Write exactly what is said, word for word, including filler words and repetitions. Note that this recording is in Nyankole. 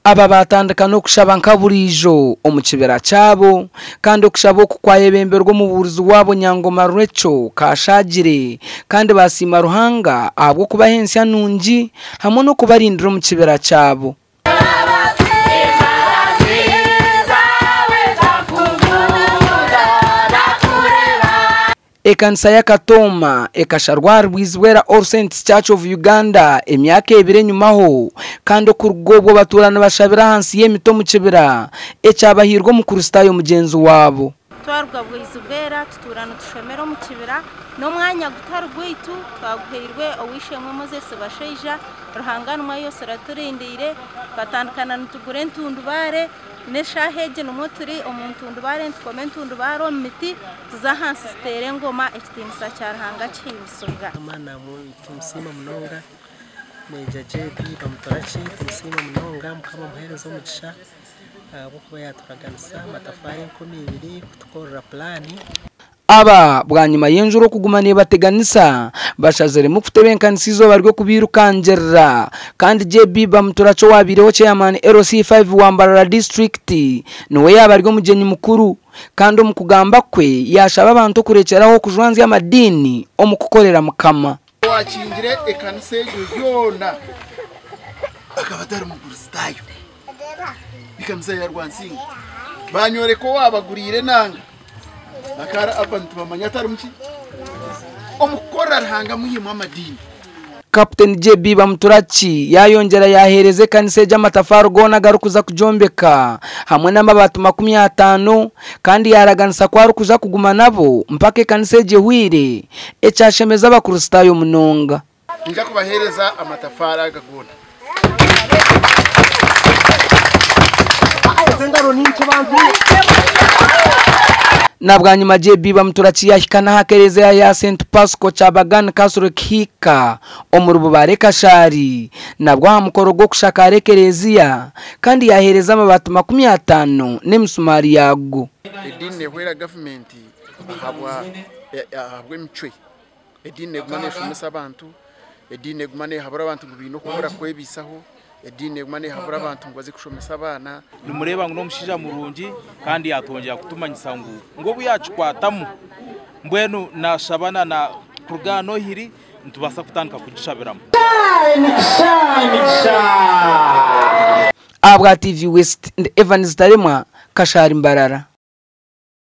Aba batandika n'okushaba nka burijo omu kibira kyabo, kandi okushaba oku kwayebemberwa omubuurizi wabo Nyangoma Rachel Kashagire, kandi basiima Ruhanga ahabw'okubaha ensya nungi hamwe n'okubarindira omu kibira kyabo. Ekanisa ya Katooma ekasharwa Rwizibwera All Saints Church of Uganda emyaka ebiri enyumaho, kandi okuruga obwo batuura nibashabira ahansi y'emiti omu kibira ekyabahirwe omukristaayo mugyenzi waabo. Twaruga Bwizibwera tutuura nitushomera omu kibira n'omwanya gutari gwaitu twaguhairwe ow'eishe-emwe Moses Bashaija. Ruhanga nimwe yose araturindiire, twatandikana nitugura entundubaare n'eshaaha egi nimwo turi omu ntundubaare, nitukoma entundubaare omu miti tuza ahansi tuteera engoma, ekitiinisa kya Ruhanga kihimbisibwa. Tumusiima munonga Meja J B Bamuturaki, tumusiima munonga, Mukama amuheereze omugisha ahabw'okuba yaturaganisa amatafaari enkumi ibiri kutukorera pulaani. Aba bwanyima y'enjura okuguma nibateganisa bashaziremu kutebenkanisa izooba ry'okubirukangirira, kandi J B Bamuturaki owabaireho chairman L C five wa Mbarara district niwe yaaba ari omugyenyi mukuru, kandi omu kugamba kwe yashaba abantu okurekyeraho okujwanzya amadiini omu kukorera Mukama. Wakingire ekanisa egyo yoona akaba atari mukristaayo, ekanisa ya Rwansinga banyoreka owabaguriire enanga akara abantu bamanya atari muki omukukorera Ruhanga muhimu amadiini. Captain J B Bamuturaki yayongera yahereza ekanisa egyo amatafari goona garikuza kujombeka hamwe n'amabaati makumi ataano, kandi yaraganisa ku arikuza kuguma nabo mpaka ekanisa egyo ehwire, ekyashemeza abakristaayo munonga. Nja kubahereza amatafari aga goona. Na bwanyima J B Bamuturaki yahika n'aha kereziya ya Saint Pasco Kyabagan Catholic Hika omu Rububare Kashari, nabwo aha mukoro gw'okushakara ekereziya, kandi yahereza amabaati makumi ataano n'emisumari yago. Ediini nehwera gavumenti ahabwa ahabw'emicwe. Ediini neguma neshomesa abantu, ediini neguma nehabura abantu ngu baine okukora kwebisaho, ediini neguma nehabura abantu ngu baze kushomesa abaana. Nimureba ngu n'omushaija murungi kandi yatwongera kutumanyisa ngu ngu obu yakikwatamu mbwenu nashabana na kuruga nohiri nitubaasa kutandika kugishabiramu. Abwa T V West, Evans Taremwa, Kashari Mbarara.